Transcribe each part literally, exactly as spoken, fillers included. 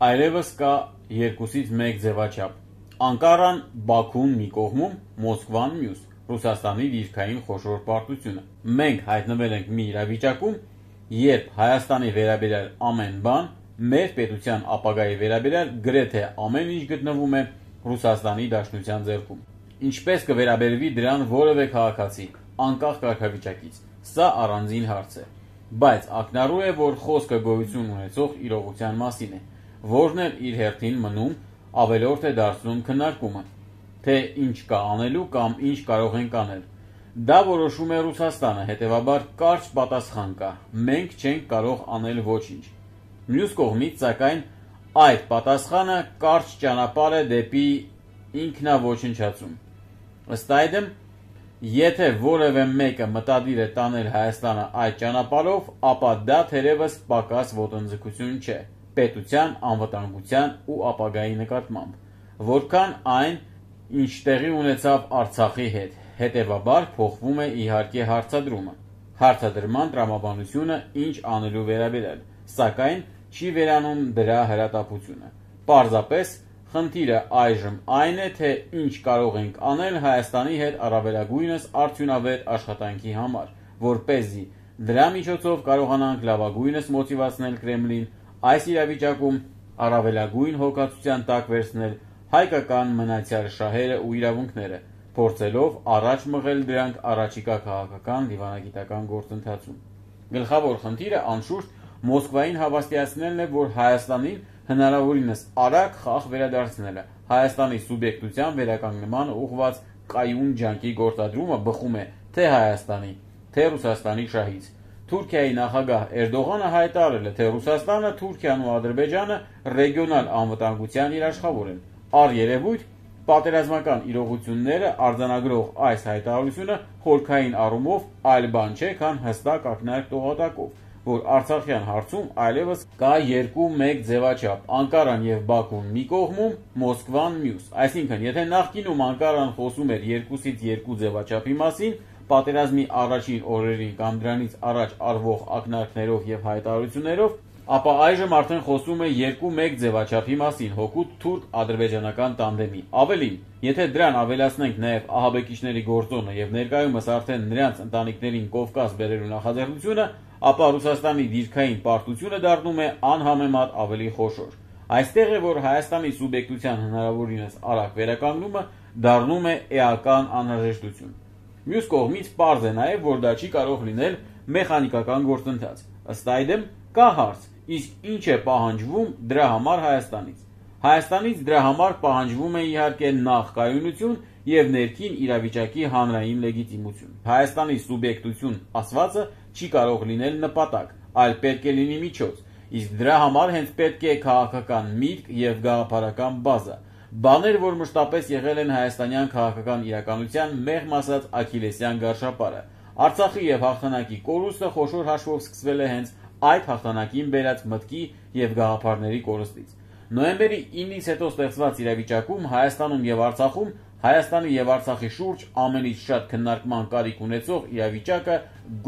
այլևս կա երկուսից մեկ ձևաչափ։ Անկարան Բաքուն մի կողմում, Մոսկվան մյուս, Ռուսաստանի դիրքային խոշոր պարտությունը։ Մենք հայտնվել ենք մի իրավիճակում, երբ Հայաստանի վերաբերյալ ամեն բան, մեր պետության ապագայի վերաբերյալ գրեթե ամեն ինչ գտնվում է Ռուսաստանի Դաշնության ձեռքում։ Ինչպես կվերաբերվի դրան որևէ քաղաքացի, անկախ կարգավիճակից, սա առանձին հարց է, բայց ակնառու է, որ խոսքը գոյություն ունեցող իրողության մասին է, որն էլ իր հերթին մնում ավելորդ է դարձնում քննարկումը, թե ինչ կա անելու կամ ինչ կարող ենք անել։ Դա որոշում է Ռուսաստանը, հետևաբար կարճ պատասխան կա, մենք չենք կարող անել ոչինչ։ Մյուս կողմից, սակայն, այդ պատասխանը կարճ ճանապարհ է դեպի ինքնաոչնչացում։ Ըստ այդմ, եթե որևէ մեկը մտադիր է տանել Հայաստանը այդ ճանապարհով, ապա դա թերևս պակաս ոտնձգություն չէ պետության անվտանգության ու ապագայի նկատմամբ, որքան այն, ինչ տեղի ունեցավ Արցախի հետ, հետևաբար փոխվում է իհարկե հարցադրումը, հարցադրման տրամաբանությունը ինչ անելու վերաբերյալ, սակայն չի վերանում դրա հրատապությունը։ Պարզապես խնդիրը այժմ այն է, թե ինչ կարող ենք անել Հայաստանի հետ առավելագույնս արդյունավետ աշխատանքի համար, որպեսզի դրա միջոցով կարողանանք լավագույնս մոտիվացնել Կրեմլին այս իրավիճակում առավելագույն հոգացության տակ վերցնել հայկական մնացյալ շահերը ու իրավունքները, փորձելով առաջ մղել դրանք առաջիկա քաղաքական դիվանագիտական գործընթացում։ Գլխավոր խնդիրը անշուշտ Մոսկվային հավաստիացնելն է, որ Հայաստանին հնարավորինս արագ խաղ վերադարձնելը, Հայաստանի սուբյեկտության վերականգնմանը ուղղված կայուն ջանքի գործադրումը բխում է թե Հայաստանի, թե Ռուսաստանի շահից։ Թուրքիայի նախագահ Էրդողանը հայտարարել է, թե Ռուսաստանը, Թուրքիան ու Ադրբեջանը ռեգիոնալ անվտանգության երաշխավոր են։ Առերևույթ, պատերազմական իրողությունները արձանագրող այս հայտարարությունը խորքային առումով այլ բան չէ, քան հստակ ակնարկ տողատակով, որ Արցախյան հարցում այլևս կա երկու մեկ ձևաչափ՝ Անկարան եւ Բաքուն մի կողմում, Մոսկվան մյուս։ Այսինքն, եթե նախկինում Անկարան խոսում էր երկուսից երկու ձևաչափի մասին, պատերազմի առաջին օրերին կամ դրանից առաջ արվող ակնարկներով եւ հայտարարություններով, ապա այժմ արդեն խոսում է երկու մեկ ձևաչափի մասին՝ հօգուտ թուրք-ադրբեջանական տանդեմի։ Ավելին, եթե դրան ավելացնենք նաեւ ահաբեկիչների գործոնը եւ ներկայումս արդեն նրանց ընտանիքներին Կովկաս բերելու նախաձեռնությունը, ապա Ռուսաստանի դիրքային պարտությունը դառնում է անհամեմատ ավելի խոշոր։ Այստեղ է, որ Հայաստանի սուբյեկտության հնարավորինս արագ վերականգնումը դառնում է էական անհրաժեշտություն։ Մյուս կողմից պարզ է նաև, որ դա չի կարող լինել մեխանիկական գործընթաց։ Ըստ այդմ կա հարց, իսկ ինչ է պահանջվում դրա համար Հայաստանից։ Հայաստանից դրա համար պահանջվում է իհարկե նախ կայունություն եւ ներքին իրավիճակի հանրային լեգիտիմություն։ Հայաստանի սուբյեկտություն ասվածը չի կարող լինել նպատակ, այլ պետք է լինի միջոց, իսկ դրա համար հենց պետք է քաղաքական միտք եւ գաղափարական բազա։ Բաներ, որ մշտապես եղել են հայաստանյան քաղաքական իրականության մեղմ ասած աքիլեսյան գարշապարը։ Արցախի եւ հաղթանակի կորուստը խոշոր հաշվով սկսվել է հենց այդ հաղթանակին բերած մտքի եւ գաղափարների կորստից։ Նոյեմբերի ինից հետո ստեղծված իրավիճակում Հայաստանում եւ Արցախում Հայաստանի եւ Արցախի շուրջ ամենից շատ քննարկման կարիք ունեցող իրավիճակը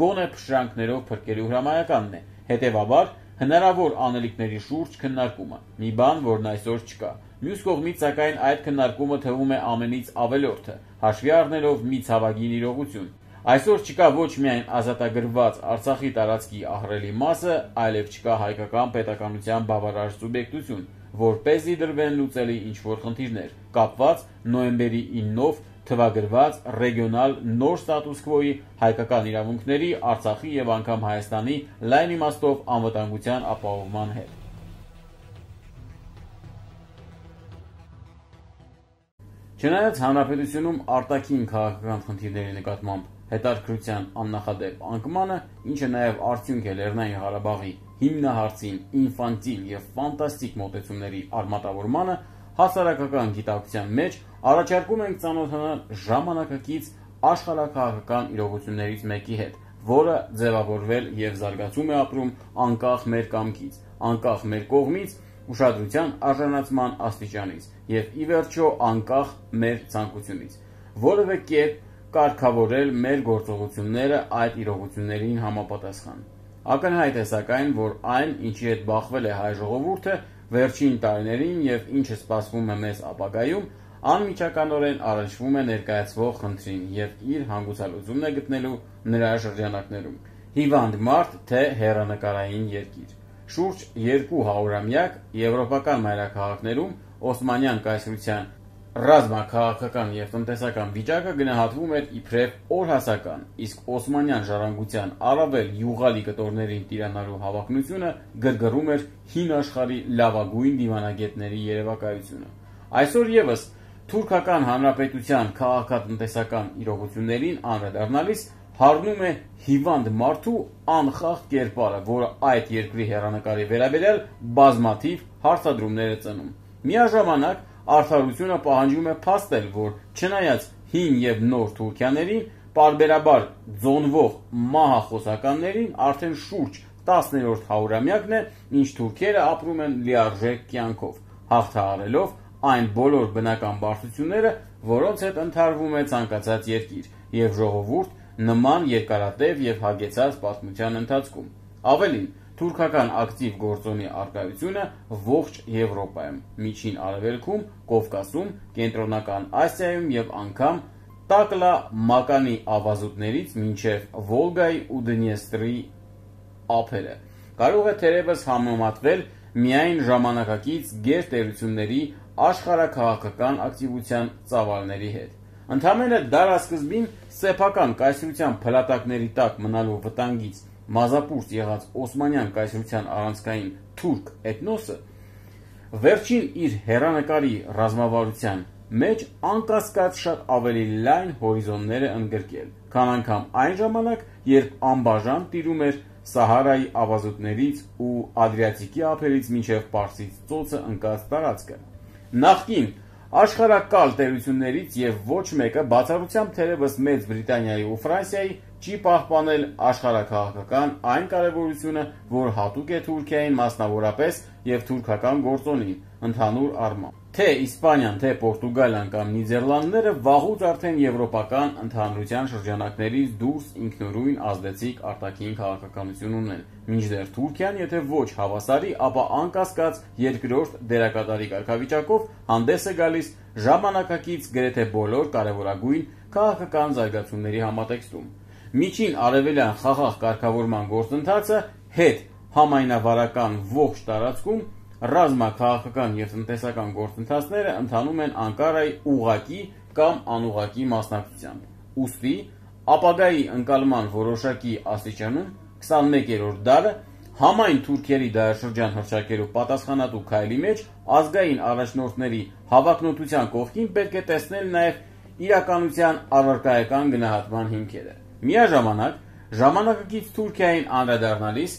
գոնե փշրանքներով փրկելու հրամայականն է։ Հետևաբար հնարավոր անելիքների շուրջ քննարկումը, մի բան, որն այսօր չկա։ Մյուս կողմից, սակայն, այդ քննարկումը թվում է ամենից ավելորդը, հաշվի առնելով մի ցավագին իրողություն։ Այսօր չկա ոչ միայն ազատագրված Արցախի տարածքի ահռելի մասը, այլև չկա հայկական պետականության բավարար սուբյեկտություն, որպեսզի դրվեն լուծելի ինչ-որ խնդիրներ, կապված նոյեմբերի իննով թվագրված ռեգիոնալ նոր ստատուս քվոյի, հայկական իրավունքների, Արցախի եւ անգամ Հայաստանի լայն իմաստով անվտանգության ապահովման հետ։ Չնայած հանրապետությունում արտաքին քաղաքական խնդիրների նկատմամբ հետաքրքրության աննախադեպ անկմանը, ինչը նաև արդյունք է Լեռնային Ղարաբաղի հիմնահարցին ինֆանտիլ եւ ֆանտաստիկ մոտեցումների արմատավորմանը, հասարակական գիտակցության մեջ առաջարկում ենք ծանոթանալ ժամանակակից աշխարհաքաղաքական իրողություններից մեկի հետ, որը ձևավորվել եւ զարգացում է ապրում անկախ մեր կամքից, անկախ մեր կողմից, ուշադրության արժանացման աստիճանից եւ ի վերջո անկախ մեր ցանկությունից, որևէ կերպ կարգավորել մեր գործողությունները այդ իրողություններին համապատասխան։ Ակնհայտ է սակայն, որ այն, ինչի հետ բախվել է հայ ժողովուրդը, վերջին տարիներին եւ ինչը սպասվում է մեզ ապագայում, անմիջականորեն առնչվում է ներկայացվող խնդրին եւ իր հանգուցալուծումն է գտնելու նրա շրջանակներում։ Հիվանդ մարդ, թե հեռանկարային երկիր։ Շուրջ երկու հարյուրամյակ եվրոպական մայրաքաղաքներում Օսմանյան կայսրության ռազմաքաղաքական եւ տնտեսական վիճակը գնահատվում էր իբրև օրհասական, իսկ Օսմանյան ժառանգության առավել յուղալի կտորներին տիրանալու հավակնությունը գրգռում էր հին աշխարհի լավագույն դիվանագետների երևակայությունը։ Այսօր եւս Թուրքական Հանրապետության քաղաքատնտեսական իրողություններին անդրադառնալիս հառնում է հիվանդ մարդու անխախտ կերպարը, որը այդ երկրի հեռանկարի վերաբերյալ բազմաթիվ հարցադրումներ է ծնում։ Միաժամանակ արդարությունը պահանջում է փաստել, որ չնայած հին եւ նոր Թուրքիաներին, պարբերաբար ձոնվող մահախոսականներին արդեն շուրջ տասներորդ հարյուրամյակն է, ինչ թուրքերը ապրում են լիարժեք կյանքով, հաղթահարելով այն բոլոր բնական բարդությունները, որոնց հետ ընթարվում է ցանկացած երկիր եւ ժողովուրդ նման երկարատև եւ հագեցած պատմության ընթացքում։ Ավելին, թուրքական ակտիվ գործոնի առկայությունը ողջ Եվրոպայում, Միջին Արևելքում, Կովկասում, Կենտրոնական Ասիայում եւ անգամ Տակլա մականի ավազուտներից մինչև Վոլգայի ու Դնյեստրի ափերը կարող է թերևս համեմատվել միայն ժամանակակից գերտերությունների աշխարհաքաղաքական ակտիվության ծավալների հետ։ Ընդամենը դարասկզբին սեփական կայսրության փլատակների տակ մնալու վտանգից մազապուրծ եղած Օսմանյան կայսրության առանցքային թուրք էթնոսը վերջին իր հեռանկարի ռազմավարության մեջ անկասկած շատ ավելի լայն հորիզոններ է ընդգրկել, քան անգամ այն ժամանակ, երբ անբաժան տիրում էր Սահարայի ավազուտներից ու Ադրիատիկի ափերից մինչև Պարսից ծոցը ընկած տարածքը։ Նախկին աշխարհակալ տերություններից եւ ոչ մեկը բացառությամբ թերևս Մեծ Բրիտանիայի ու Ֆրանսիայի չի պահպանել աշխարհաքաղաքական այն կարևորությունը, որ հատուկ է Թուրքիային մասնավորապես եւ թուրքական գործոնին ընդհանուր առմամբ։ Թե Իսպանիան, թե Պորտուգալիան կամ Նիդերլանդները վաղուց արդեն եվրոպական ընդհանրության շրջանակներից դուրս ինքնուրույն ազդեցիկ արտաքին քաղաքականություն ունեն, մինչդեռ Թուրքիան, եթե ոչ հավասարի, ապա անկասկած երկրորդ դերակատարի կարգավիճակով հանդես է գալիս ժամանակակից գրեթե բոլոր կարևորագույն քաղաքական զարգացումների համատեքստում։ Միջին արևելյան խաղաղ կարգավորման գործընթացը հետ համայնավարական ողջ տարածքում ռազմաքաղաքական եւ տնտեսական գործընթացները ընթանում են Անկարայի ուղղակի կամ անուղղակի մասնակցությամբ։ Ուստի ապագայի ընկալման որոշակի աստիճանում քսանմեկերորդ դարը համայն թուրքերի դարաշրջան հռչակելու պատասխանատու քայլի մեջ ազգային առաջնորդների հավակնոտության կողքին պետք է տեսնել նաեւ իրականության առարկայական գնահատման հիմքերը։ Միաժամանակ ժամանակակից Թուրքիային անդրադառնալիս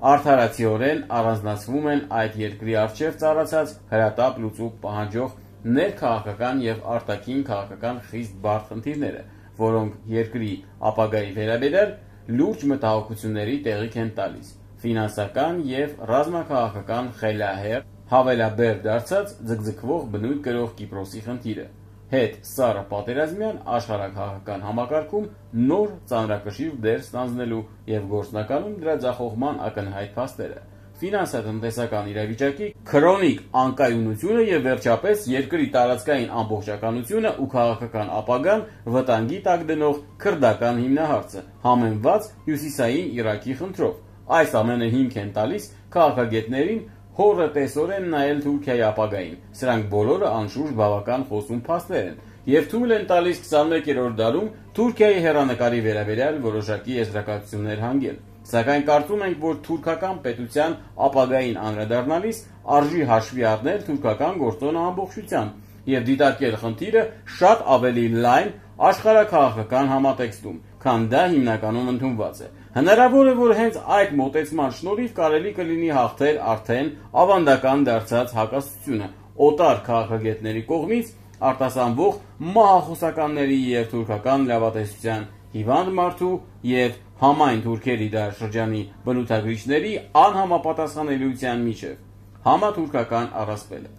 արդարացիորեն առանձնացվում են այդ երկրի առջև ծառացած հրատապ լուծում պահանջող ներքաղաքական եւ արտաքին քաղաքական խիստ բարդ խնդիրները, որոնք երկրի ապագայի վերաբերյալ լուրջ մտահոգությունների տեղիք են տալիս։ Ֆինանսական եւ ռազմաքաղաքական խելահեղ հավելաբեր դարձած ձգձգվող բնույթ կրող Կիպրոսի խնդիրը, հետ սառը պատերազմյան աշխարհաքաղաքական համակարգում նոր ծանրակշիռ դեր ստանձնելու եւ գործնականում դրա ձախողման ակնհայտ փաստերը, ֆինանսատնտեսական իրավիճակի քրոնիկ անկայունությունը եւ վերջապես երկրի տարածքային ամբողջականությունը ու քաղաքական ապագան վտանգի տակ դնող քրդական հիմնահարցը, համեմված հյուսիսային Իրաքի խնդրով։ Այս ամենը հիմք են տալիս քաղաքագետներին հորը տեսորեն նայել Թուրքիայի ապագային։ Սրանք բոլորը անշուշտ բավական խոսուն փաստեր են եւ թույլ են տալիս քսանմեկերորդ դարում Թուրքիայի հեռանկարի վերաբերյալ որոշակի եզրակացություններ հանգել։ Սակայն կարծում ենք, որ թուրքական պետության ապագային անդրադառնալիս արժի հաշվի առնել թուրքական գործոնը ամբողջությամբ եւ դիտարկել խնդիրը շատ ավելի լայն աշխարհաքաղաքական համատեքստում, քան դա հիմնականում ընդունված է։ Հնարավոր է, որ հենց այդ մոտեցման շնորհիվ կարելի կլինի հաղթել արդեն ավանդական դարձած հակասությունը օտար քաղաքագետների կողմից արտասանվող մահախոսականների եւ թուրքական լավատեսության հիվանդ մարդու եւ համայն թուրքերի դարաշրջանի բնութագրիչների անհամապատասխանելիության միջև համաթուրքական առասպելը։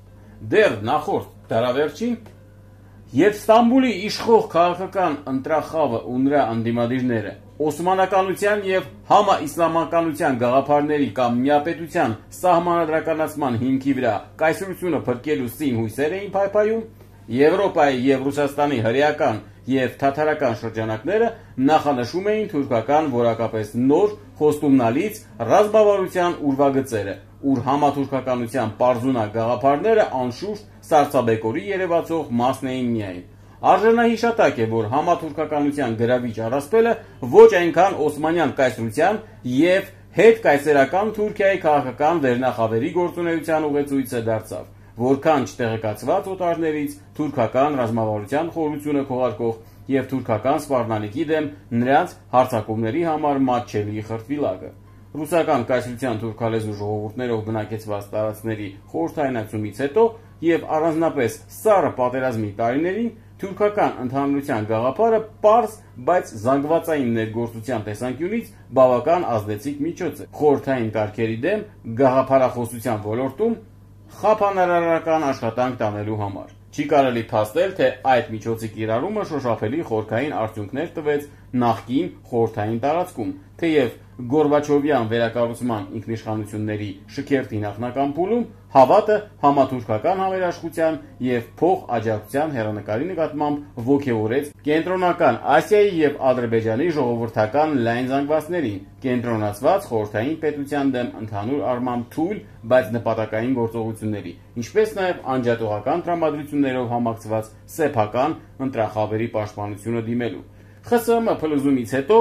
Դեռ նախորդ դարավերջին, երբ Ստամբուլի իշխող քաղաքական ընտրախավը ու նրա ընդդիմադիրները Օսմանականության եւ համաիսլամականության գաղափարների կամ միապետության սահմանադրականացման հիմքի վրա կայսրությունը փրկելու սին հույսեր էին փայփայում, Եվրոպայի եւ Ռուսաստանի հրեական եւ թաթարական շրջանակները նախանշում էին թուրքական որակապես նոր խոստումնալից ռազմավարության ուրվագծերը, ուր համաթուրքականության պարզունակ գաղափարները անշուշտ սառցաբեկորի երևացող մասն էին միայն։ Արժանահիշատակ է, որ համաթուրքականության գրավիչ առասպելը ոչ այնքան օսմանյան կայսրության եւ հետկայսերական Թուրքիայի քաղաքական վերնախավերի գործունեության ուղեցույցը դարձավ, որքան չտեղեկացված օտարներից թուրքական ռազմավարության խորությունը քողարկող եւ թուրքական սպառնալիքի դեմ նրանց հարձակումների համար մատչելի խրտվիլակը։ Ռուսական կայսրության թուրքալեզու ժողովուրդներով բնակեցված տարածքների խորհրդայնացումից հետո եւ առանձնապես սառը պատերազմի տարիներին թուրքական ընդհանրության գաղափարը պարզ, բայց զանգվածային ներգործության տեսանկյունից բավական ազդեցիկ միջոց է խորհրդային կարգերի դեմ գաղափարախոսության ոլորտում խափանարարական աշխատանք տանելու համար։ Չի կարելի փաստել, թե այդ միջոցի կիրառումը շոշափելի խորքային արդյունքներ տվեց նախկին խորհրդային տարածքում, թեև Գորբաչովյան վերակառուցման ինքնիշխանությունների շքերթի նախնական փուլում հավատը համաթուրքական համերաշխության եւ փոխ-աջակցության հեռանկարի նկատմամբ ոգևորեց Կենտրոնական Ասիայի եւ Ադրբեջանի ժողովրդական լայն զանգվածներին, կենտրոնացված խորհրդային պետության դեմ ընդհանուր առմամբ թույլ, բայց նպատակային գործողությունների, ինչպես նաեւ անջատողական տրամադրություններով համակցված սեփական ընտրախավերի պաշտպանությունը դիմելու։ ԽՍՀՄ փլուզումից հետո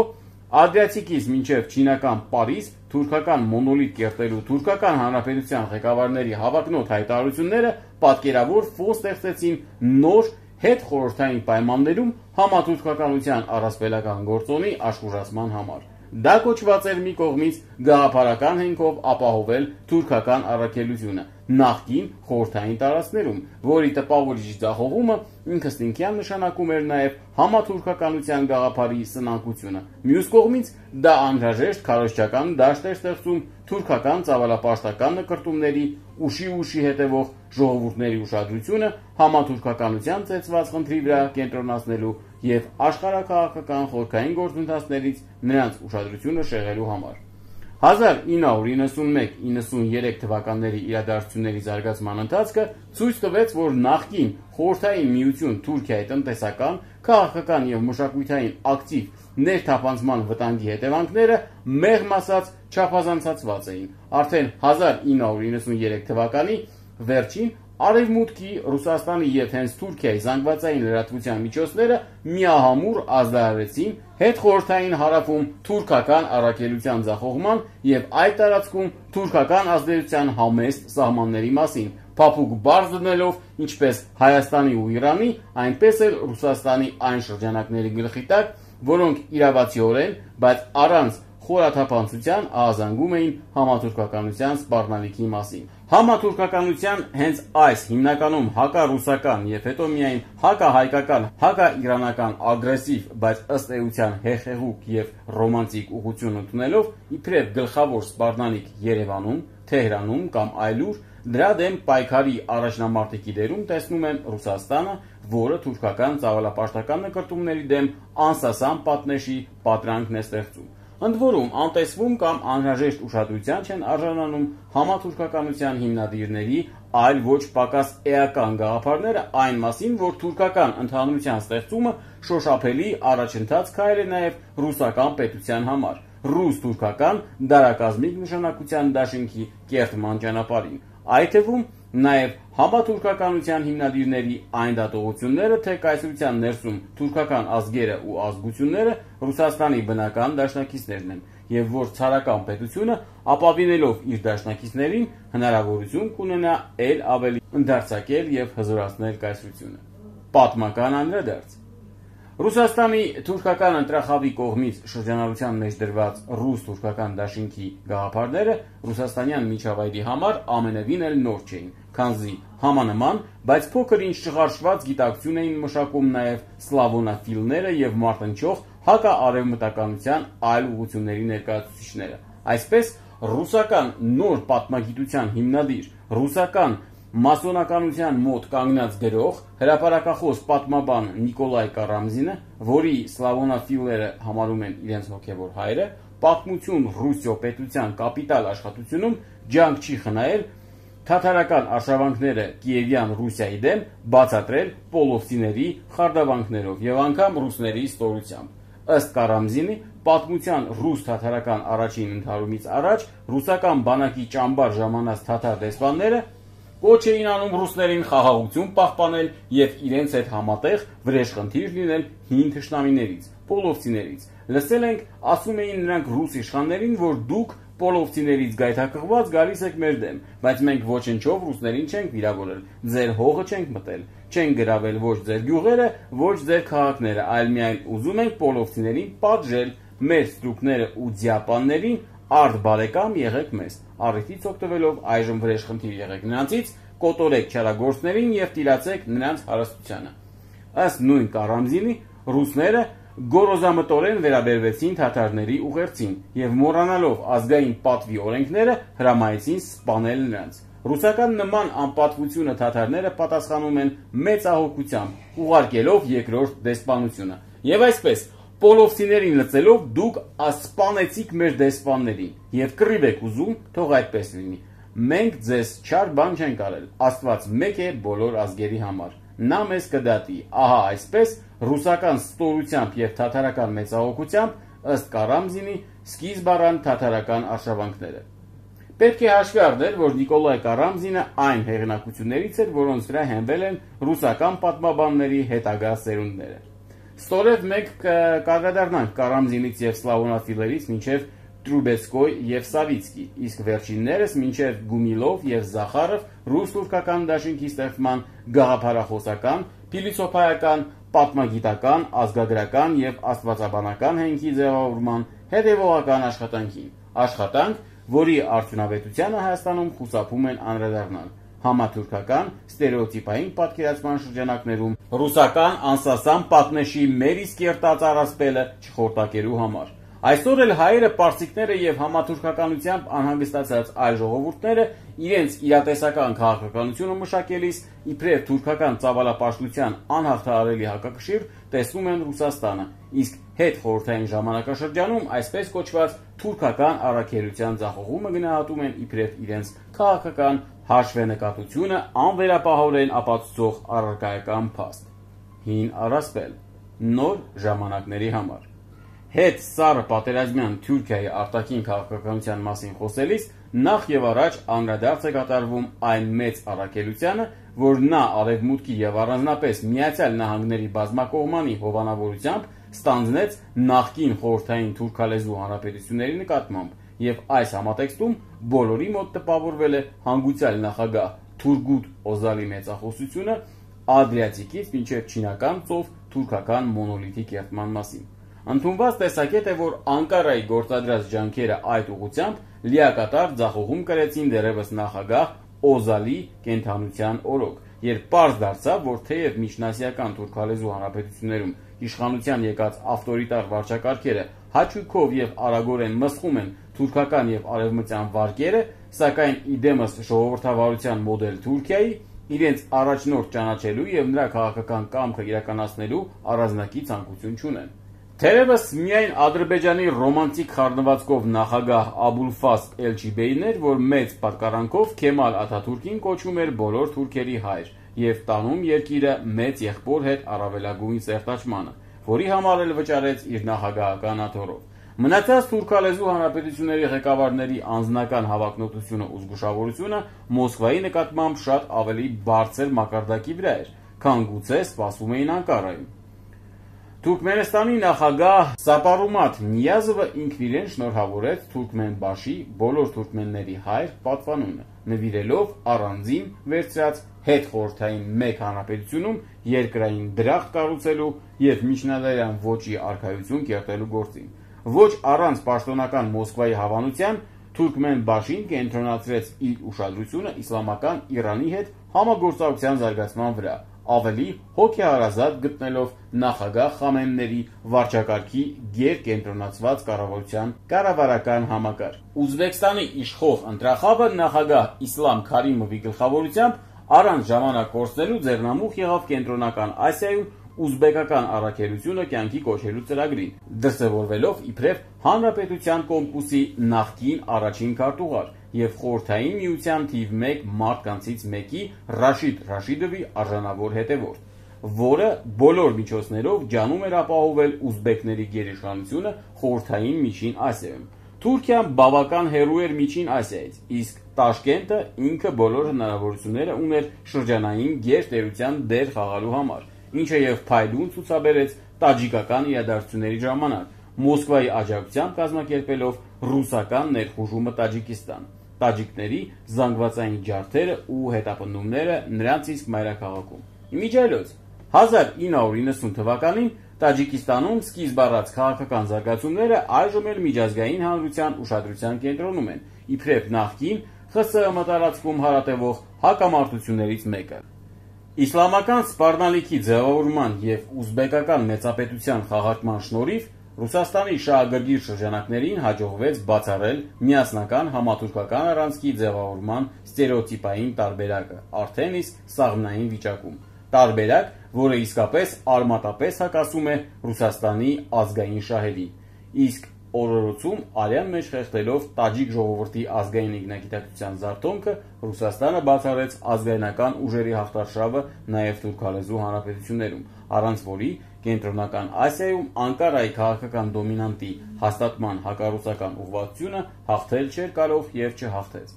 Ադրիատիկից մինչև չինական Պարիզ թուրքական մոնոլիթ կերտելու թուրքական հանրապետության ղեկավարների հավակնոտ հայտարարությունները պատկերավոր ֆոն ստեղծեցին նոր հետխորհրդային պայմաններում համաթուրքականության առասպելական գործոնի աշխուժացման համար։ Դա կոչված էր մի կողմից գաղափարական հենքով ապահովել թուրքական առաքելությունը նախկին խորհրդային տարածքներում, որի տպավորիչ ձախողումը ինքնըստինքյան նշանակում էր նաև համաթուրքականության գաղափարի սնանկությունը։ Մյուս կողմից դա անհրաժեշտ քարոզչական դաշտ էր ստեղծում թուրքական ծավալապաշտական նկրտումների ուշի ուշի հետևող ժողովուրդների ուշադրությունը համաթուրքականության ծեծված խնդրի վրա կենտրոնացնելու եւ աշխարհաքաղաքական խորքային գործընթացներից նրանց ուշադրությունը շեղելու համար։ հազար ինը հարյուր իննսունմեկ իննսուներեք թվականների իրադարձությունների զարգացման ընթացքը ցույց տվեց, որ նախկին խորհրդային միություն Թուրքիայի տնտեսական, քաղաքական եւ մշակութային ակտիվ ներթափանցման վտանգի հետևանքները մեղմ ասած չափազանցացված էին։ Արդեն հազար ինը հարյուր իննսուներեք թվականի վերջին Արևմուտքի, Ռուսաստանի եւ հենց Թուրքիայի զանգվածային լրատվության միջոցները միահամուռ ազդարարեցին հետխորհրդային հարավում թուրքական առաքելության ձախողման եւ այդ տարածքում թուրքական ազդեցության համեստ սահմանների մասին, փափուկ բարձ դնելով ինչպես Հայաստանի ու Իրանի, այնպես էլ Ռուսաստանի այն շրջանակների գլխի տակ, որոնք իրավացիորեն, բայց առանց խորաթափանցության ահազանգում էին համաթուրքականության սպառնալիքի մասին։ Համաթուրքականության հենց այս հիմնականում հակառուսական եւ հետո միայն հակահայկական, հակաիրանական ագրեսիվ, բայց ըստ էության հեղեղուկ եւ ռոմանտիկ ուղղություն ընդունելով իբրև գլխավոր սպառնալիք Երևանում, Թեհրանում կամ այլուր, դրա դեմ պայքարի առաջնամարտիկի դերում տեսնում են Ռուսաստանը, որը թուրքական ծավալապաշտական նկրտումների դեմ անսասան պատնեշի պատրանքն է ստեղծում։ Ընդ որում, անտեսվում կամ անհրաժեշտ ուշադրության չեն արժանանում համաթուրքականության հիմնադիրների, այլ ոչ պակաս էական գաղափարները այն մասին, որ թուրքական ընդհանրության ստեղծումը շոշափելի առաջընթաց քայլ է նաև ռուսական պետության համար, ռուս-թուրքական դարակազմիկ նշանակության դաշինքի կերտման ճանապարհին։ Այդ թվում նաև համաթուրքականության հիմնադիրների այն դատողությունները, թե կայսրության ներսում թուրքական ազգերը ու ազգությունները Ռուսաստանի բնական դաշնակիցներն են, եւ որ ցարական պետությունը ապավինելով իր դաշնակիցներին հնարավորություն կունենա ել ավելի ընդարձակել եւ հզորացնել կայսրությունը։ Պատմական անդրադարձ Ռուսաստանի թուրքական ընտրախավի կողմից շրջանառության մեջ դրված ռուս-թուրքական դաշինքի գաղափարները ռուսաստանյան միջավայրի համար ամենևին էլ նոր չէին, քանզի համանման, բայց փոքր ինչ չղարշված գիտակցություն էին մշակում նաև սլավոնաֆիլները եւ մարտնչող հակաարևմտականության այլ ուղղությունների ներկայացուցիչները։ Այսպես ռուսական նոր պատմագիտության հիմնադիր, ռուսական մասոնականության մոտ կանգնած գրող, հրապարակախոս պատմաբան Նիկոլայ Կարամզինը, որի սլավոնաֆիլները համարում են իրենց հոգևոր հայրը, «Պատմություն Ռուսիո պետության կապիտալ» աշխատությունում ջանք չի խնայել թաթարական արշավանքները Կիևյան Ռուսիայի դեմ բացատրել պոլովցիների խարդավանքներով եւ անգամ ռուսների ստորությամբ։ Ըստ Կարամզինի, պատմության ռուս-թաթարական առաջին ընդհարումից առաջ ռուսական բանակի ճամբար ժամանած թաթար դեսպանները կոչ էին անում ռուսներին խաղաղություն պահպանել եւ իրենց հետ համատեղ վրեժխնդիր լինել հին թշնամիներից, պոլովցիներից։ Լսել ենք, ասում էին նրանք ռուս իշխաններին, որ դուք պոլովցիներից գայթակղված գալիս եք մեր դեմ, բայց մենք ոչնչով ռուսներին չենք վիրավորել, ձեր հողը չենք մտել, չենք գրավել ոչ ձեր գյուղերը, ոչ ձեր քաղաքները, այլ միայն ուզում ենք պոլովցիներին պատժել, մեր ստրուկները ու ձիապաններին արդ բարեկամ եղեք մեզ, առիթից օգտվելով այժմ վրեժխնդիր եղեք նրանցից, կոտորեք չարագործներին եւ տիրացեք նրանց հարստությանը։ Ըստ նույն Կարամզինի, ռուսները գորոզամտորեն վերաբերվեցին թաթարների ուղերձին եւ մոռանալով ազգային պատվի օրենքները հրամայեցին սպանել նրանց։ Ռուսական նման անպատվությունը թաթարները պատասխանում են մեծ ահոգությամբ, ուղարկելով երկրորդ դեսպանությունը։ Եվ այսպես, պոլովցիներին լծելով դուք սպանեցիք մեր դեսպաններին եւ կռիվ եք ուզում, թող այդպես լինի։ Մենք ձեզ չար բան չենք արել, Աստված մեկ է բոլոր ազգերի համար, նա մեզ կդատի, ահա այսպես ռուսական ստորությամբ եւ թաթարական մեծահոգությամբ ըստ Կարամզինի սկիզբ առան թաթարական արշավանքները։ Պետք է հաշվի առնել, որ Նիկոլայ Կարամզինը այն հեղինակություններից էր, որոնց վրա հենվել են ռուսական պատմաբանների հետագա սերունդները։ Ստորև մենք կարգադառնանք Կարամզինից եւ սլավոնաֆիլերից մինչեւ Տրուբեցկոյ եւ Սավիցկի, իսկ վերջիններս մինչեւ Գումիլով եւ Զախարով ռուս-թուրքական դաշինքի ստեղծման գաղափարախոսական, փիլիսոփայական, պատմագիտական, ազգագրական եւ աստվածաբանական հենքի ձևավորման հետեւողական աշխատանքին, աշխատանք, որի արդյունավետությանը Հայաստանում խուսափում են անդրադառնալ համաթուրքական ստերեոտիպային պատկերացման շրջանակներում ռուսական անսասան պատնեշի մեր իսկ երտած առասպելը չխորտակելու համար։ Այսօր էլ հայերը, պարսիկները եւ համաթուրքականությամբ անհանգստացած այլ ժողովուրդները իրենց իրատեսական քաղաքականությունը մշակելիս իբրև թուրքական ծավալապաշտության անհաղթահարելի հակակշիռ տեսնում են Ռուսաստանը, իսկ հետ խորհրդային ժամանակաշրջանում այսպես կոչված թուրքական առաքելության ձախողումը գնահատում են իբրև իրենց քաղաքական հաշվենկատությունը անվերապահորեն ապացուցող առարկայական փաստ։ Հին առասպել, նոր ժամանակների համար։ Հետ սառը պատերազմյան Թուրքիայի արտաքին քաղաքականության մասին խոսելիս նախ եւ առաջ անդրադարձ է կատարվում այն մեծ առաքելությանը, որ նա արևմուտքի եւ առանձնապես Միացյալ Նահանգների բազմակողմանի հովանավորությամբ ստանձնեց նախկին խորհրդային թուրքալեզու հանրապետությունների նկատմամբ, եւ այս համատեքստում բոլորի մոտ տպավորվել է հանգուցյալ նախագահ Թուրգուտ Օզալի մեծախոսությունը Ադրիատիկից մինչև Չինական ծով թուրքական մոնոլիթի կերտման մասին։ Ընդունված տեսակետ է, որ Անկարայի գործադրած ջանքերը այդ ուղղությամբ լիակատար ձախողում կրեցին դեռևս նախագահ Օզալի կենթանության օրոք, երբ պարզ դարձավ, որ թեև միջնասիական թուրքալեզու հանրապետություններում իշխանության եկած ավտորիտար վարչակարգերը հաճույքով եւ արագորեն մսխում են թուրքական եւ արևմտյան վարկերը, սակայն իդեմս ժողովրդավարության մոդել Թուրքիայի իրենց առաջնորդ ճանաչելու եւ նրա քաղաքական կամքը իրականացնելու առանձնակի ցանկություն չունեն։ Թերևս միայն Ադրբեջանի ռոմանտիկ խառնվածքով նախագահ Աբուլֆազլ Էլչիբեյն էր, որ մեծ պատկառանքով Քեմալ Աթաթուրքին կոչում էր բոլոր թուրքերի հայր եւ տանում երկիրը մեծ եղբոր հետ առավելագույն սերտաճմանը, որի համար էլ վճարեց իր նախագահական աթոռով։ Մնացած թուրքալեզու հանրապետությունների ղեկավարների անձնական հավակնոտությունը ու զգուշավորությունը Մոսկվայի նկատմամբ շատ ավելի բարձր մակարդակի վրա էր, քան գուցե սպասվում էին Անկարայում։ Թուրքմենստանի նախագահ Սապարումաթ Նիազովը ինքն իրեն շնորհավորեց Թուրքմենբաշի բոլոր թուրքմենների հայր պատվանունը, նվիրելով առանձին վերցրած հետ խորհրդային մեկ հանրապետությունում երկրային դրախտ կառուցելու եւ միջնադարյան ոճի արքայություն կերտելու գործին։ Ոչ առանց պաշտոնական Մոսկվայի հավանության Թուրքմենբաշին կենտրոնացրեց իր ուշադրությունը իսլամական Իրանի հետ համագործակցության զարգացման վրա, ավելի հոգեհարազատ գտնելով նախագահ Խամենեի վարչակարգի գերկենտրոնացված կառավարության կառավարական համակարգ։ Ուզբեկստանի իշխող ընտրախավը նախագահ Իսլամ Քարիմովի գլխավորությամբ Առանց ժամանակ կորցնելու ձեռնամուխ եղավ Կենտրոնական Ասիայում ուզբեկական առաքելությունը կյանքի կոչելու ծրագրին, դրսևորվելով իբրև Հանրապետության կոմկուսի նախկին առաջին քարտուղար և Խորհրդային Միության թիվ մեկ մարդկանցից մեկի Ռաշիդ Ռաշիդովի արժանավոր հետևորդ, որը բոլոր միջոցներով ջանում էր ապահովել ուզբեկների գերիշխանությունը Խորհրդային Միջին Ասիայում։ Թուրքիան բավական հեռու էր Միջին Ասիայից, իսկ Տաշկենտը ինքը բոլոր հնարավորությունները ուներ շրջանային գերտերության դեր խաղալու համար, ինչը և փայլուն ցուցաբերեց տաջիկական իրադարձությունների ժամանակ, Մոսկվայի աջակցությամբ կազմակերպելով ռուսական ներխուժումը Տաջիկստան, տաջիկների զանգվածային ջարդերը ու հետապնդումները նրանց իսկ մայրաքաղաքում։ Իմիջիայլոց հազար ինը հարյուր իննսուն թվականին Տաջիկստանում սկիզբ առած քաղաքական զարգացումները այժմ էլ միջազգային հանրության ուշադրության կենտրոնում են, իբրև նախկին ԽՍՀՄ տարածքում հարատևող հակամարտություններից մեկը։ Իսլամական սպառնալիքի ձևավորման և ուզբեկական մեծապետության խաղարկման շնորհիվ Ռուսաստանի շահագրգիռ շրջանակներին հաջողվեց բացառել միասնական համաթուրքական առանցքի ձևավորման ստերեոտիպային տարբերակը, արդեն իսկ սաղմնային վիճակում, տարբերակ, որը իսկապես արմատապես հակասում է Ռուսաստանի ազգային շահերին, իսկ օրորոցում արյան մեջ խեղդելով տաջիկ ժողովրդի ազգային ինքնագիտակցության զարթոնքը Ռուսաստանը բացառեց ազգայնական ուժերի հաղթարշավը նաև թուրքալեզու հանրապետություններում, առանց որի Կենտրոնական Ասիայում Անկարայի քաղաքական դոմինանտի հաստատման հակառուսական ուղղվածությունը հաղթել չէր կարող և չհաղթեց։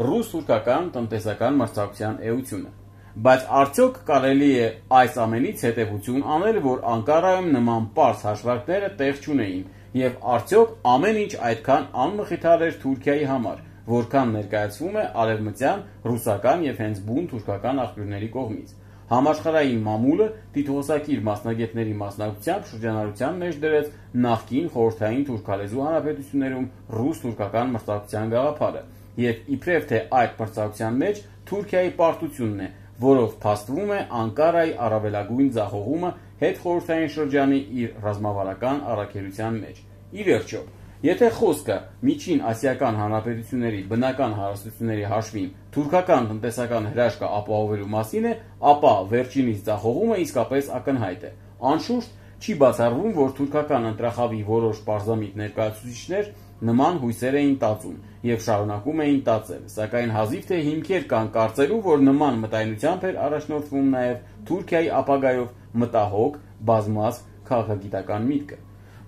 Ռուս-թուրքական տնտեսական մրցակցության էությունը։ Բայց արդյոք կարելի է այս ամենից հետևություն անել, որ Անկարայում նման պարզ հաշվարկները տեղ չունեին, և արդյոք ամեն ինչ այդքան անմխիթար էր Թուրքիայի համար, որքան ներկայացվում է արևմտյան, ռուսական և հենց բուն թուրքական աղբյուրների կողմից։ Համաշխարհային մամուլը տիտղոսակիր մասնագետների մասնակցությամբ շրջանառության մեջ դրեց նախկին խորհրդային թուրքալեզու հանրապետություններում ռուս-թուրքական մրցակցության գաղափարը, և իբրև թե այդ մրցակցության մեջ Թուրքիայի պարտությունն է, որով փաստվում է Անկարայի առավելագույն ձախողումը հետխորհրդային շրջանի իր ռազմավարական առաքելության մեջ։ Ի վերջո, եթե խոսքը Միջին Ասիական հանրապետությունների բնական հարստությունների հաշվին թուրքական տնտեսական հրաշքը ապահովելու մասին է, ապա վերջինիս ձախողումը իսկապես ակնհայտ է։ Անշուշտ, չի բացառվում, որ թուրքական ընտրախավի որոշ պարզամիտ ներկայացուցիչներ նման հույսեր էին տածում և շարունակում էին տածել, սակայն հազիվ թե հիմքեր կան կարծելու, որ նման մտայնությամբ էր առաջնորդվում նաև Թուրքիայի ապագայով մտահոգ, բազմազգ քաղաքագիտական միտքը։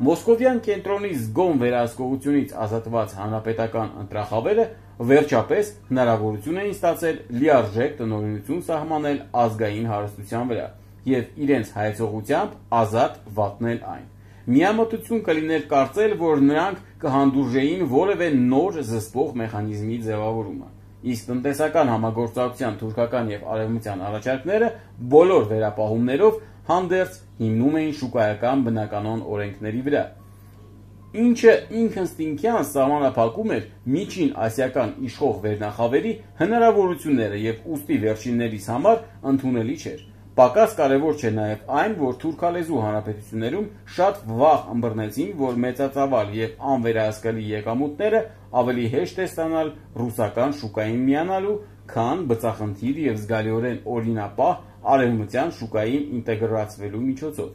Մոսկովյան կենտրոնի զգոն վերահսկողությունից ազատված հանրապետական ընտրախավերը վերջապես հնարավորություն էին ստացել լիարժեք տնօրինություն սահմանել ազգային հարստության վրա և իրենց հայեցողությամբ ազատ վատնել այն։ Միամտություն կլիներ կարծել, որ նրանք կհանդուրժեին որևէ նոր զսպող մեխանիզմի ձևավորումը, իսկ տնտեսական համագործակցության թուրքական և արևմտյան առաջարկները բոլոր վերապահումներով հանդերձ հիմնում էին շուկայական բնականոն օրենքների վրա, ինչը ինքնըստինքյան սահմանափակում էր Միջին Ասիական իշխող վերնախավերի հնարավորությունները և ուստի վերջիններիս համար ընդունելի չէր։ Պակաս կարևոր չէ նաև այն, որ թուրքալեզու հանրապետություններում շատ վաղ ըմբռնեցին, որ մեծածավալ և անվերահսկելի եկամուտները ավելի հեշտ է ստանալ ռուսական շուկային միանալու, քան բծախնդիր և զգալիորեն օրինապահ արևմտյան շուկային ինտեգրացվելու միջոցով։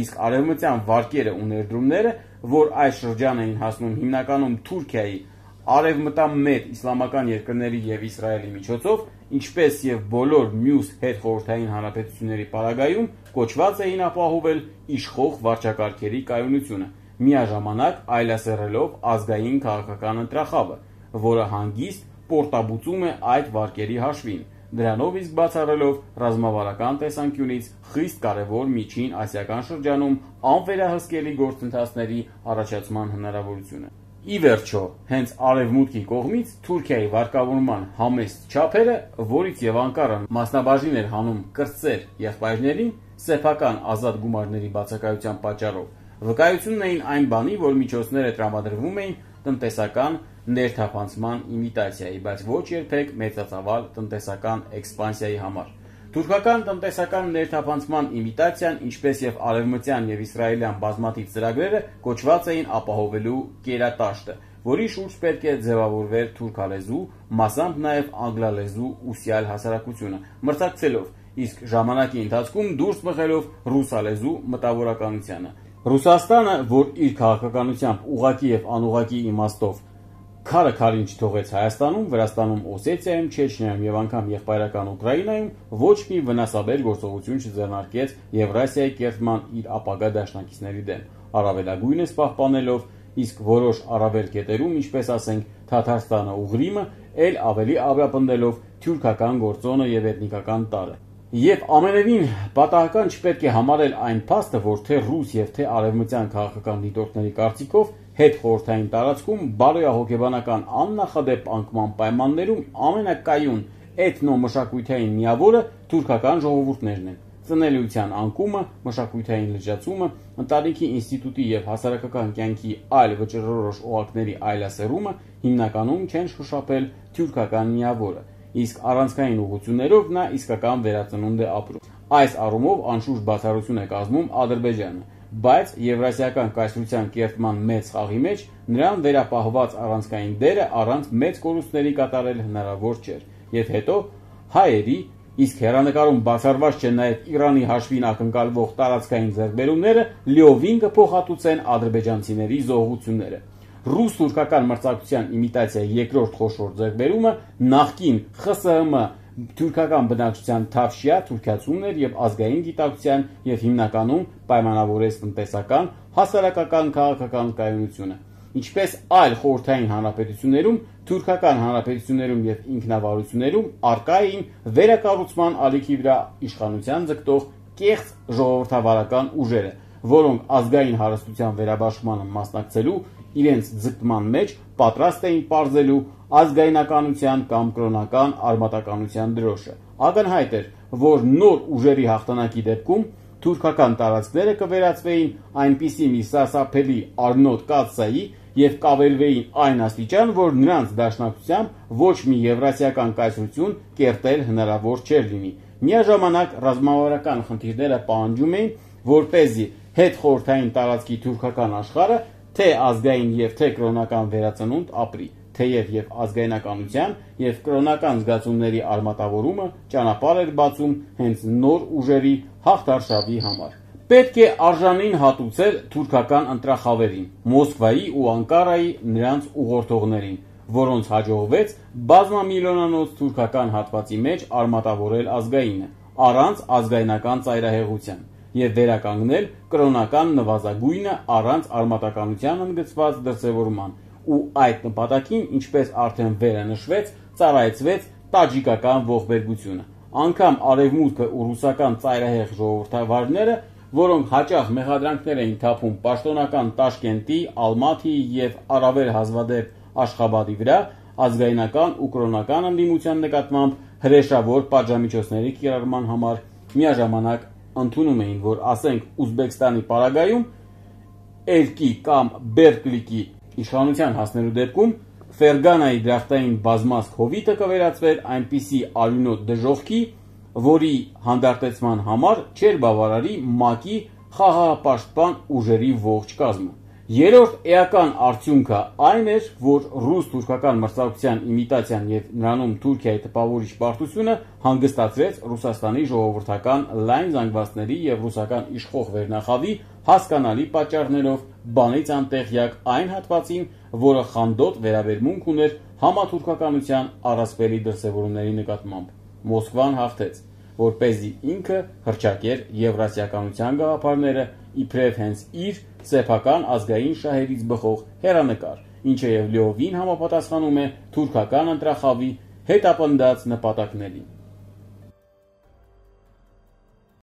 Իսկ արևմտյան վարկերը ու ներդրումները, որ այս շրջան էին հասնում հիմնականում Թուրքիայի, արևմտամետ իսլամական երկրների և Իսրայելի միջոցով, ինչպես և բոլոր մյուս հետխորհրդային հանրապետությունների պարագայում, կոչված էին ապահովել իշխող վարչակարգերի կայունությունը, միաժամանակ այլասեռելով ազգային քաղաքական ընտրախավը, որը հանգիստ պորտաբուծում է այդ վարկերի հաշվին, դրանով իսկ բացառելով ռազմավարական տեսանկյունից խիստ կարևոր Միջին Ասիական շրջանում անվերահսկելի գործընթացների առաջացման հնարավորությունը։ Ի վերջո, հենց արևմուտքի կողմից Թուրքիայի վարկավորման համեստ չափերը, որից և Անկարան մասնաբաժին էր հանում կրտսեր եղբայրներին, սեփական ազատ գումարների բացակայության պատճառով, վկայությունն էին այն բանի, որ միջոցները տրամադրվում էին տնտեսական ներթափանցման իմիտացիայի, բայց ոչ երբեք մեծածավալ տնտեսական էքսպանսիայի համար։ Թուրքական տնտեսական ներթափանցման իմիտացիան, ինչպես և արևմտյան և իսրայելյան բազմաթիվ ծրագրերը, կոչված էին ապահովելու կերատաշտը, որի շուրջ պետք է ձևավորվեր թուրքալեզու, մասամբ նաև անգլալեզու ուսյալ հասարակությունը, մրցակցելով, իսկ ժամանակի ընթացքում դուրս մղելով ռուսալեզու մտավորականությանը։ Ռուսաստանը, որ իր քաղաքականությամբ ուղղակի եւ անուղղակի իմաստով քարը քարին չթողեց Հայաստանում, Վրաստանում, Օսեթիայում, Չեչնիայում եւ անգամ եղբայրական Ուկրաինայում ոչ մի վնասաբեր գործողություն չձեռնարկեց Եվրասիայի կերտման իր ապագա դաշնակիցների դեմ, առավելագույնս պահպանելով, իսկ որոշ առավել կետերում, ինչպես ասենք Թաթարստանը ու Ղրիմը, ել ավելի ամրապնդելով թյուրքական գործոնը եւ էթնիկական տարը։ Եվ ամենևին պատահական չպետք է համարել այն փաստը, որ թե ռուս եւ թե արևմտյան քաղաքական դիտորդների կարծիքով հետ խորհրդային տարածքում բարոյահոգեբանական աննախադեպ անկման պայմաններում ամենակայուն էթնոմշակութային միավորը թուրքական ժողովուրդներն են։ Ծնելիության անկումը, մշակութային լրջացումը, ընտանիքի ինստիտուտի եւ հասարակական կյանքի այլ վճռորոշ օղակների այլասերումը հիմնականում չեն շոշափել թյուրքական միավորը, իսկ առանցքային ուղղություններով նա իսկական վերածնունդ է ապրում։ Այս առումով անշուշտ բացառություն է կազմում Ադրբեջանը, բայց Եվրասիական կայսրության կերտման մեծ խաղի մեջ նրան վերապահված առանցքային դերը առանց մեծ կորուստների կատարել հնարավոր չէր, եւ հետո հայերի, իսկ հեռանկարում բացառված չեն նաև Իրանի հաշվին ակնկալվող տարածքային ձեռքբերումները լիովին կփոխհատուցեն ադրբեջանցիների զոհությունները։ Ռուս-թուրքական մրցակցության իմիտացիայի երկրորդ խոշոր ձեռքբերումը նախկին ԽՍՀՄ թուրքական բնակչության թավշյա թուրքացումն էր եւ ազգային գիտակցության եւ հիմնականում պայմանավորեց տնտեսական, հասարակական, քաղաքական կայունությունը, ինչպես այլ խորհրդային հանրապետություններում, թուրքական հանրապետություններում եւ ինքնավարություններում առկա էին վերակառուցման ալիքի վրա իշխանության ձգտող կեղծ ժողովրդավարական ուժերը, որոնք ազգային հարստության վերաբաշխմանը մասնակցելու իրենց ձգտման մեջ պատրաստ էին պարզելու ազգայնականության կամ կրոնական արմատականության դրոշը։ Ակնհայտ էր, որ նոր ուժերի հաղթանակի դեպքում թուրքական տարածքները կվերածվեին այնպիսի մի սարսափելի արնոտ կաթսայի եւ կավերվեին այն աստիճան, որ նրանց դաշնակցությամբ ոչ մի եվրասիական կայսրություն կերտել հնարավոր չէր լինի։ Միաժամանակ ռազմավարական խնդիրները պահանջում էին, որպեսզի հետ խորհրդային տարածքի թուրքական աշխարհը թե ազգային եւ թե կրոնական վերածնունդ ապրի, թեև եւ ազգայնականության եւ կրոնական զգացումների արմատավորումը ճանապարհ էր բացում հենց նոր ուժերի հաղթարշավի համար։ Պետք է արժանին հատուցել թուրքական ընտրախավերին, Մոսկվայի ու Անկարայի նրանց ուղղորդողներին, որոնց հաջողվեց բազմամիլիոնանոց թուրքական հատվածի մեջ արմատավորել ազգայինը, առանց ազգայնական ծայրահեղության եւ վերականգնել կրոնական նվազագույնը առանց արմատականության ընդգծված դրսևորման, ու այդ նպատակին, ինչպես արդեն վերը նշվեց, ծառայեցվեց տաջիկական ողբերգությունը։ Անկամ արևմուտքը ու ռուսական ծայրահեղ ժողովրդավարները, որոնք հաճախ մեղադրանքներ էին թափում պաշտոնական Տաշկենտի, Ալմաթիի եւ առավել հազվադեպ Աշխաբադի վրա, ազգայնական ու կրոնական ընդդիմության նկատմամբ հրեշավոր պատժամիջոցների կիրառման համար միաժամանակ ընդունում էին, որ ասենք Ուզբեկստանի պարագայում Էրկի կամ Բերկլիկի իշխանության հասնելու դեպքում Ֆերգանայի դրախտային բազմազգ հովիտը կվերածվեր այնպիսի արյունոտ դժոխքի, որի հանդարտեցման համար չէր բավարարի ՄԱԿ-ի խաղաղապաշտպան ուժերի ողջ կազմը։ Երրորդ էական արդյունքը այն էր, որ ռուս-թուրքական մրցակցության իմիտացիան եւ նրանում Թուրքիայի տպավորիչ պարտությունը հանգստացրեց Ռուսաստանի ժողովրդական լայն զանգվածների եւ ռուսական իշխող վերնախավի հասկանալի պատճառներով բանից անտեղյակ այն հատվածին, որը խանդոտ վերաբերմունք ուներ համաթուրքականության առասպելի դրսևորումների նկատմամբ։ Մոսկվան հաղթեց, որպեսզի ինքը հռչակեր եվրասիականության գաղափարները իբրև հենց իր սեփական ազգային շահերից բխող հեռանկար, ինչը եւ լիովին համապատասխանում է թուրքական ընտրախավի հետապնդած նպատակներին։